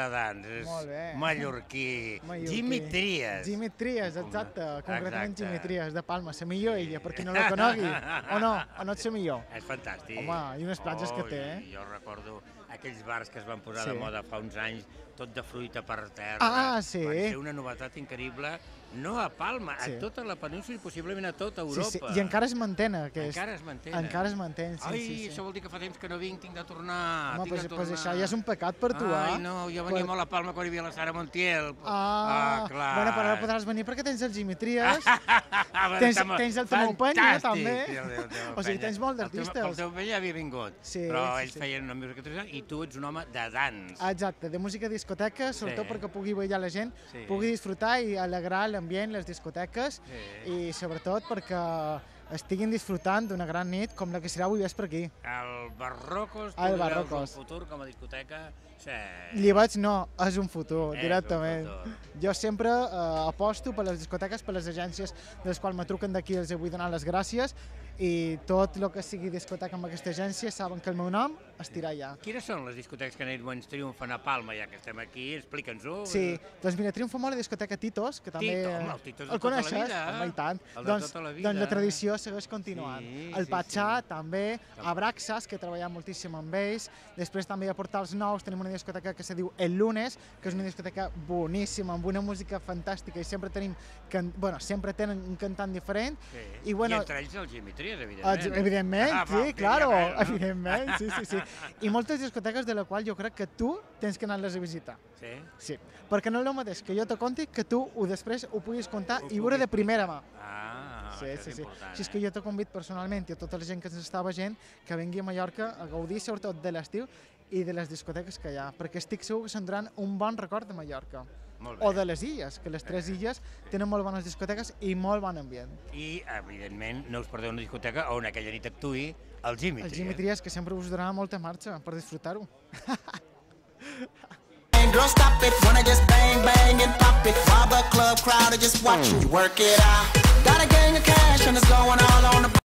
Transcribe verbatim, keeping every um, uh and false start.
Dans, és mallorquí. Jimmy Trias. Jimmy Trias, exacte, concretament Jimmy Trias, de Palma. La millor ella, per qui no la conegui. O no, o no ets la millor? És fantàstic. Home, i unes platges que té, eh? Jo recordo aquells bars que es van posar de moda fa uns anys, tot de fruita per terra. Ah, sí? Va ser una novetat increïble, no a Palma, a tota la península i possiblement a tota Europa. I encara es mantén, aquest. Encara es mantén. Encara es mantén, sí, sí. Ai, això vol dir que fa temps que no vinc, tinc de tornar, Home, tinc de tornar. Doncs això ja és un pecat per tu, eh? Ai, no, jo venia molt a Palma quan hi havia la Sara Montiel. Ah, clar. Bueno, però ara podràs venir perquè tens el Jimmy Trias, tens el Tomeu Penya, també. O sigui, tens molt d'artistes. El teu Penya havia vingut, però ells feien una música tradicional i tu ets un home de dans. Exacte, de música discoteca, sobretot perquè pugui ballar la gent, pugui disfrutar i alegrar l'ambient, les discoteques, i sobretot perquè estiguin disfrutant d'una gran nit com la que serà avui vespre aquí. El Barrocos, tu veus un futur com a discoteca? Li veig no, és un futur, directament. Jo sempre aposto per les discoteques, per les agències de les quals me truquen d'aquí, els vull donar les gràcies, i tot el que sigui discoteca amb aquesta agència saben que el meu nom estirà allà. Quines són les discoteques que més triomfen a Palma, ja que estem aquí? Explica'ns-ho. Sí, doncs mira, triomfa molt la discoteca Titos, que també... Home, el Titos de tota la vida. Home, i tant. El de tota la vida. Doncs la tradició segueix continuant. El Patxà, també, Abraxas, que he treballat moltíssim amb ells. Després també a Portals Nous tenim una discoteca que se diu El Lunes, que és una discoteca boníssima, amb una música fantàstica, i sempre tenim, bueno, sempre tenen un cantant diferent. I entre ells el Jimmy Trias, evidentment. Evidentment, sí, claro, evidentment, sí, sí, sí. I moltes discoteques de la qual jo crec que tu tens que anar-les a visitar. Sí? Sí, perquè no és el mateix que jo te conti que tu després ho puguis contar i veure de primera mà. Ah, això és important. Si és que jo te convido personalment i a tota la gent que ens està veient que vingui a Mallorca a gaudir sobretot de l'estiu i de les discoteques que hi ha, perquè estic segur que s'endran un bon record de Mallorca. O de les illes, que les tres illes tenen molt bones discoteques i molt bon ambient. I, evidentment, no us perdeu una discoteca on aquella nit actuï el Jimmy Trias. El Jimmy Trias, que sempre us donarà molta marxa per disfrutar-ho. Girl, stop it, wanna just bang, bang and pop it. While the club crowd are just watching you work it out. Got a gang of cash and it's going all on the